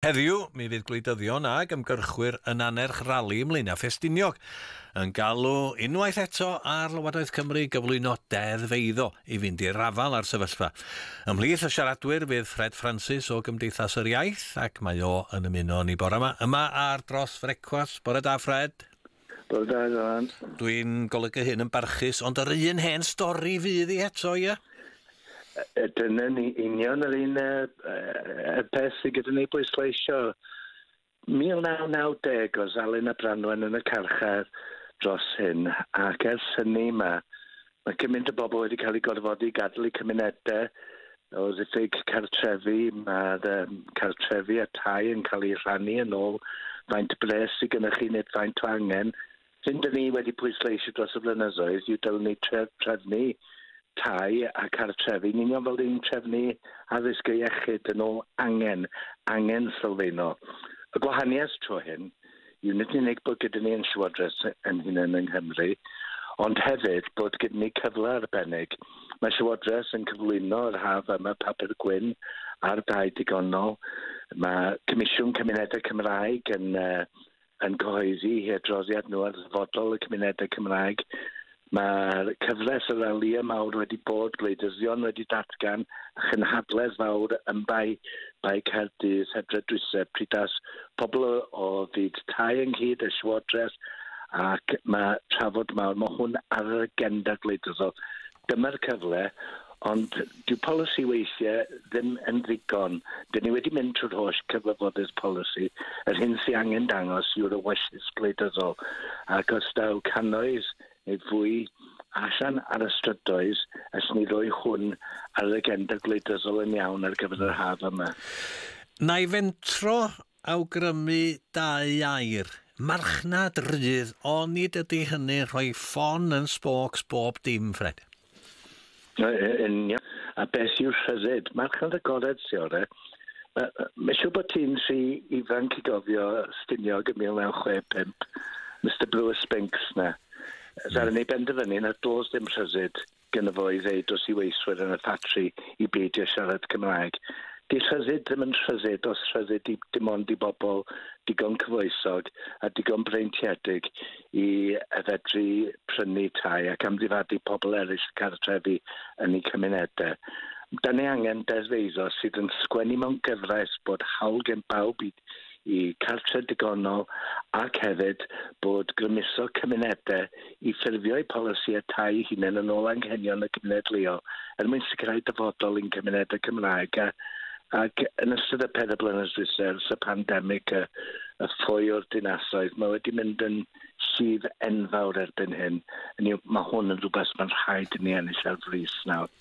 Heddiw, mi fydd gwleidyddion ag ymgyrchwyr yn annerch rali ym Mlaenau Ffestiniog, yn galw unwaith eto ar Lywodraeth Cymru gyflwyno deddf eiddo i fynd i'r afael â'r sefyllfa. Ymhlith y siaradwyr fydd Ffred Ffransis o Gymdeithas yr Iaith, ac mae o yn ymuno ni bore yma, yma ar Dros Frecwast. Bore da, Ffred. Bore da, Dylan. Dwi'n golygu hyn yn barchus, ond yr un hen stori fydd hi eto, ie? Dyna ni union yr un peth sydd gyda ni bwysleisio. 1990 oedd Alun a Branwen yn y carchar dros hyn, ac ers hynny mae gymaint o bobl wedi cael eu gorfodi gadael eu cymunedau o ddiffyg cartrefi. Mae'r cartrefi a tai yn cael eu rhannu yn ôl faint bres sydd gennych chi neu faint o angen. Hyn dyn ni wedi pwysleisio dros y blynyddoedd yw dylwn ni trefnu tai a cartrefi, yn union fel ni'n trefnu addysg a iechyd yn ôl angen, angen sylfaenol. Y gwahaniaeth tro hyn yw nid yn unig bod gyda ni yn Llywodraeth yn hunain yng Nghymru, ond hefyd bod gyda ni cyfle arbennig. Mae Llywodraeth yn cyflwyno yr haf yma papur gwyn ar dai digonol. Mae Comisiwn Cymunedau Cymraeg yn cyhoeddi eu hadroddiad nhw ar ddyfodol y cymunedau Cymraeg. Mae'r cyfres y ralïau mawr wedi bod, gwleidyddion wedi datgan a chynhadledd fawr yn Bae Caerdydd, Hydref dwytha, pryd daeth pobl o fyd tai ynghyd, y Llywodraeth, ac mae trafod mawr. Mae hwn ar yr agenda gwleidyddol. Dyma'r cyfle, ond dyw polisi weithiau ddim yn ddigon. Dyn ni wedi mynd trwy'r holl cyfarfodydd polisi. Yr hyn sy'n angen dangos yw'r ewyllys gwleidyddol. Ac os daw cannoedd neu fwy allan ar y strydoedd, allwn ni roi hwn ar yr agenda gwleidyddol yn iawn ar gyfer yr haf yma. Na i fentro awgrymu dau air. Marchnad rydd, onid ydy hynny rhoi ffon yn spokes bob dim, Ffred? Union. A beth yw'r rhyddid? Marchnad agored sy'n orau. Mae'n siŵr bod ti'n rhy ifanc i gofio Stiniog yn 1965, Mr Brewer Spinks na. Ddaru ni benderfynu na does dim rhyddid gyda fo i ddeud wrth i weithwyr yn y ffatri i beidio siarad Cymraeg. Di rhyddid ddim yn rhyddid os rhyddid i dim ond i bobl digon cyfoethog a digon breintiedig i fedru prynu tai ac amddifadu pobl eraill cartrefi yn eu cymunedau. Da ni angen deddf eiddo sydd yn sgwennu mewn gyfraith bod hawl gen bawb i cartre digonol ac hefyd bod grymuso cymunedau i ffurfio eu polisïau tai hunain yn ôl anghenion y gymuned leol er mwyn sicrhau dyfodol i'n cymunedau Cymraeg. Ac yn ystod y 4 blynedd dwytha ers y pandemig, y ffoi o'r dinasoedd, mae wedi mynd yn llif enfawr erbyn hyn. Hynny yw, mae hwn yn rhywbeth mae'n rhaid i ni ennill ar frys nawr.